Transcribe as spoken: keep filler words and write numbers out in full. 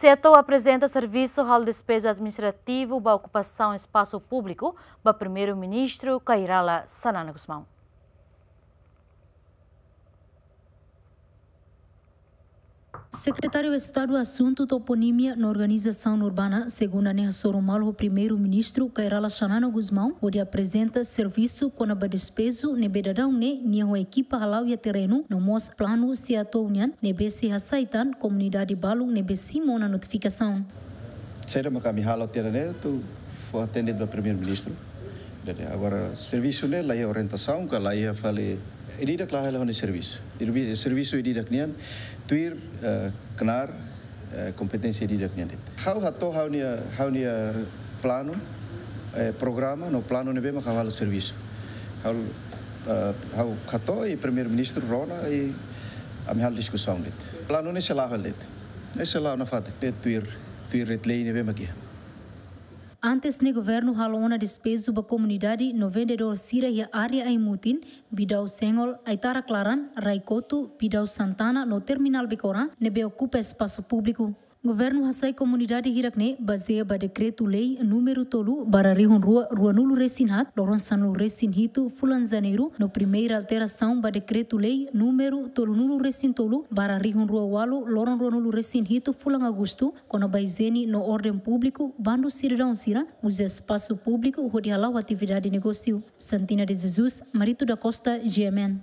SEATOU aprezenta servisu halo despeju administrativu ba okupasaun espasu públiku ba Primeiru-Ministru Kay Rala Xanana Gusmão. Sekretáriu Estadu Asuntu Toponímia no Organizasaun Urbana, segunda ne'e hasoru malu ho Primeiru-Ministru Kay Rala Xanana Gusmão, hodi aprezenta servisu kona-ba despeju ne'ebé daudaun ne'e nia ho ekipa hala'o iha terrenu, no mós planu SEATOU nian ne'ebé sei hasai tan komunidade balun ne'ebé simu ona notifikasaun. Saida maka ami halo tiha ne'e atu fó atende ba Primeiru-Ministru. Jadi, agora, servisu ne'e laiha orientasaun, ka laiha fali, ida-idak la'o hela ha'u-nia servisu. Servi-, servisu ida-idak nian, tuir, eh, knaar, eh, kompeténsia ida-idak nian de'it. Ha'u hato'o ha'u-nia, ha'u-nia planu, eh, programa, no planu ne'ebé mak ha'u halo servisu. Ha'u, eh, ha'u hato'o i Primeiru-Ministru rona i ami halo diskusaun de'it. Planu ne'e sei la'o hela de'it. Ne'e sei la'o nafatin, ne'e tuir, tuir ret-lei ne'ebé mak iha. Antes ne'e governu halo ona despeju ba komunidade no vendedór sira iha área Aimutin, Bidau Sengol, Aitara Klaran, Rai Kotu, Bidau Santana no Terminál Becora ne'ebé okupa espasu públiku. Governu hasai komunidade hirak ne'e bazeia ba Dekretu-Lei númeru tolu barra rihun rua ruanulu resin haat, loron sanulu resin hitu fulan Janeiru, no primeira alterasaun ba Dekretu-Lei númeru tolunulu resin tolu barra rihun rua ualu, loron ruanulu resin hitu fulan Agostu, kona-ba ijiene no orden públiku, bandu sidadaun sira uza espasu públiku hodi hala'o atividade negósiu. Santina de Jesus, Marito da Costa, G M N.